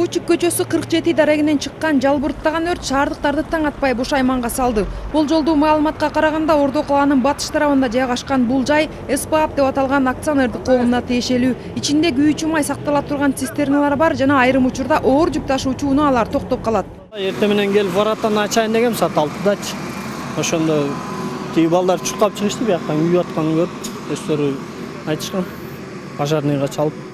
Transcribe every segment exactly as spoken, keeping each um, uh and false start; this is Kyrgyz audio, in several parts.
Фучик көчөсү кырк жети дарегинен чыккан жалбырттаган өрт шаардыктарды таң атпай бушайманга салды. Болжолдуу маалыматка караганда Ордо калаанын батыш тарабында жайгашкан бул жай СПАП деп аталган акционердик коомуна тиешелүү. Ичинде күйүүчү май сактала турган цистерналар бар жана айрым учурда оор жүк ташуучу унаалар токтоп калат. Эртең менен келип вороттон ачайын дегем саат алтыдачы. Ошондо тиги балдар чуркап чыгышты, бияктан күйүп атканын көрүп, өздөрү айтышкан. Пожарныйга чалып.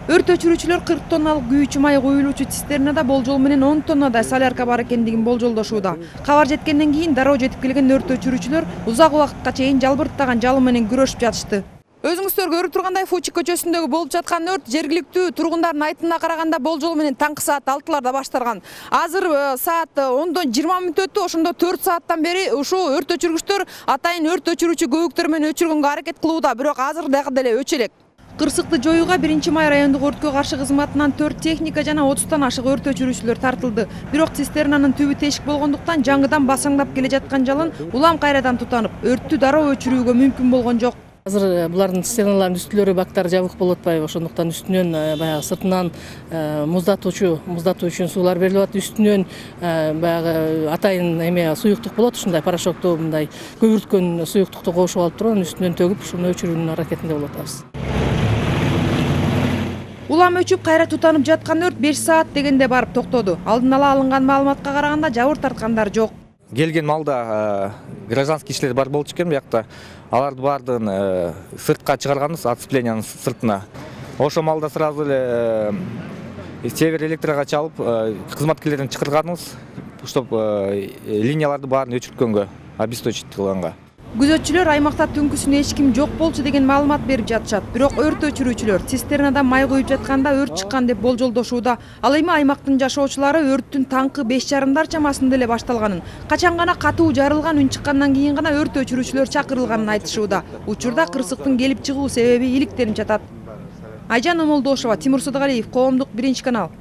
Өрт өчүрүүчүлөр кырк тонналык күйүүчү май коюлуучу цистернада болжол менен он тоннадай солярка бар экендигин болжолдошууда. Кабар жеткенден кийин дароо жетип келген өрт өчүрүүчүлөр узак убакытка чейин жалбырттаган жалын менен күрөшүп жатышты. Өзүңүздөр көрүп тургандай Фучик көчөсүндөгү болуп жаткан өрт жергиликтүү тургундардын айтымына караганда болжол менен таңкы саат алтыларда башталган. Азыр саат ондон жыйырма мүнөт өттү, ошондо төрт сааттан бери ушул өрт өчүргүчтөр атайын өрт өчүрүүчү көбүктөр менен өчүргөнгө аракет кылууда, бирок азыр дагы деле өчө элек. Кырсыкты жоюуга биринчи май райондук өрткө каршы кызматынан төрт техника жана отуздан ашык өрт өчүрүүчүлөр тартылды. Бирок цистернанын түбү тешик болгондуктан жаңыдан басаңдап келе жаткан жалын улам кайрадан тутанып, өрттү дароо өчүрүүгө мүмкүн болгон жок. Азыр булардын цистерналардын үстүлөрү бактары жабык болуп атпайбы, ошондуктан үстүнөн баягы сыртынан муздатуучу муздатуу үчүн суулар берилип атат, үстүнөн баягы атайын эме суюктук болот, ушундай порошокту мындай көбүрткөн суюктукту кошуп алып туруп анын үстүнөн төгүп ушуну өчүрүүнүн аракетинде болуп атабыз. Улам өчүп кайра тутанып жаткан өрт беш саат дегенде барып токтоду. Алдын ала алынган маалыматка караганда жабыр тарткандар жок. Келген малда гражданский кишилер бар болчу экен биякта. Аларды баардыгын сыртка чыгарганбыз, отцеплениянын сыртына. Ошо малда сразу эле север электрага чалып, кызматкерлерден чакырганбыз, чтоб линияларды баарын өчүрткөнгө, обесточить кылганга. Күзөтчүлөр аймакта түнкүсүн эч ким жок болчу деген маалымат берип жатышат. Бирок өрт өчүрүүчүлөр цистернада май куюп жатканда өрт чыккан деп болжолдошууда. Ал эми аймактын жашоочулары өрттүн таңкы беш жарымдар чамасында эле башталганын, качан гана катуу жарылган үн чыккандан кийин гана өрт өчүрүүчүлөр чакырылганын айтышууда. Учурда кырсыктын келип чыгуу себеби иликтенип жатат. Айжан Омолдошова, Тимур Сыдыгалиев, Коомдук биринчи канал.